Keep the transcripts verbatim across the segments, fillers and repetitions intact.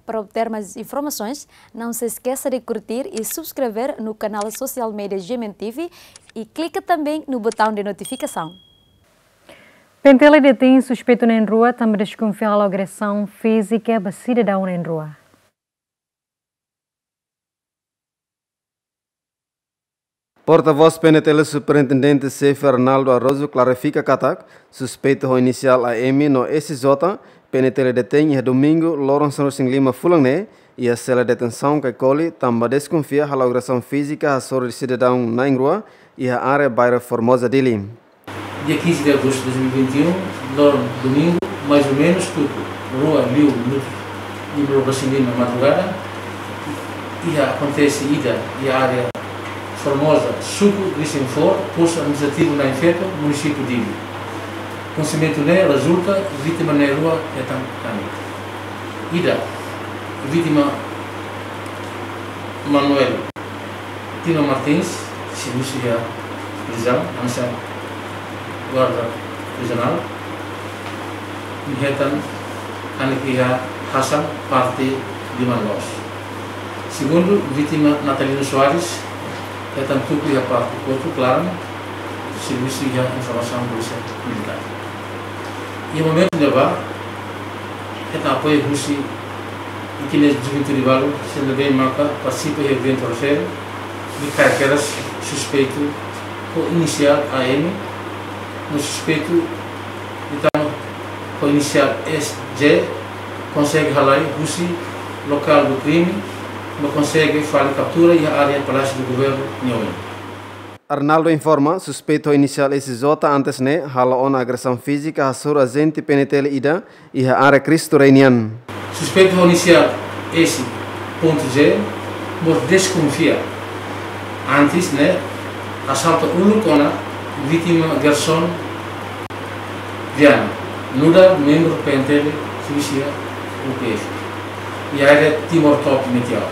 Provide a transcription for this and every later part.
Para obter mais informações, não se esqueça de curtir e subscrever no canal social media G M N T V e clica também no botão de notificação. P N T L detein suspeitu na'in-rua tanba deskonfia halo agresaun fízika ba sidadaun na'in-rua. Portavós P N T L Superintendente Xefe Arnaldo Araújo klarifika katak, suspeitu ho inisiál A M no S J, P N T L detein iha Domingu, loron sanulu-resin-lima fulan ne'e, iha sela detensaun Caicoli, tanba deskonfia halo agresaun fízika hasoru sidadaun na'in-rua, iha área bairru Formosa, Dili. Dia quinze de agosto de dois mil e vinte e um, loron Domingu, mais ou menos tuku rua liu minutu lima-resin-lima madrugada, iha akontese ida iha área Formosa, suku Gricenfor, postu administrativu Nain Feto, munisípiu Dili. Akontesimentu ne'e rezulta vítima na'in-rua hetan kanek. Ida, vítima Manuel Tino Martins, servisu iha prizaun, hanesan guarda prizionál, nia hetan kanek iha hasan parte liman loos. Segundu, vítima Natalino Soares, hetan tuku iha parte kotuk, klaran, servisu iha informasaun Polísia Militár. Iha momentu ne'ebá, hetan apoiu husi ikinas juventude balu, sira ne'ebé maka partisipa iha eventu refere, nia kaer kedas suspeitu ho inisiál A M, no suspeitu entaun ho inisiál S J, konsege halai husi lokál do krime, no konsege fali kaptura iha área Palácio do Governo nia oin. Arnaldo informa, suspeitu ho inisiál S J antes ne'e halo ona agresaun fízika hasoru ajente P N T L ida iha área Cristo Rei nian. Suspeitu ho inisiál S ponto J mós deskonfia antes ne'e asaltu uluk ona vítima Gerson Viana, nu'udar membru P N T L servisu iha U P F, iha área Timor Top Metial,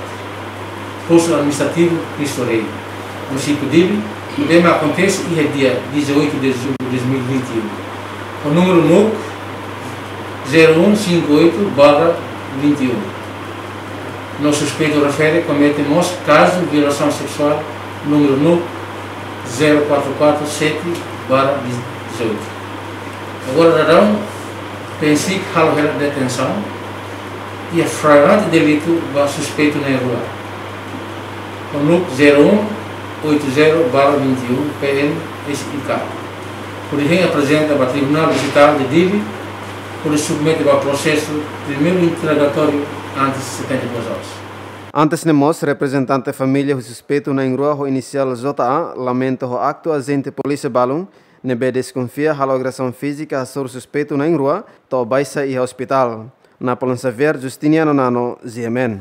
postu administrativu Cristo Rei, munisípiu Dili, ne'ebé akontese iha dia dezoito de julho de dois mil e vinte e um, ho númeru NUC zero um cinco oito barra vinte e um. No suspeitu refere komete mós kazu violasaun seksuál númeru NUC zero quatro quatro sete barra dezoito. Agora daudaun PNSIC halo hela detensaun iha flagrante delitu ba suspeitu na'in-rua, ho NUC zero um oito zero barra vinte e um PNSIK, hodi hein aprezenta ba Tribunál Distritál de Dili, hodi submete ba prosesu primeiru interrogatóriu antes setenta e duas horas. Antes ne'e mós, reprezentante família husi suspeitu na'in-rua ho inisiál J A lamenta ho aktu ajente polísia balun ne'ebé deskonfia halo agresaun fízika hasoru suspeitu na'in-rua to'o baixa iha ospitál. Napoleon Xavier, Justiniano Nano, G M N.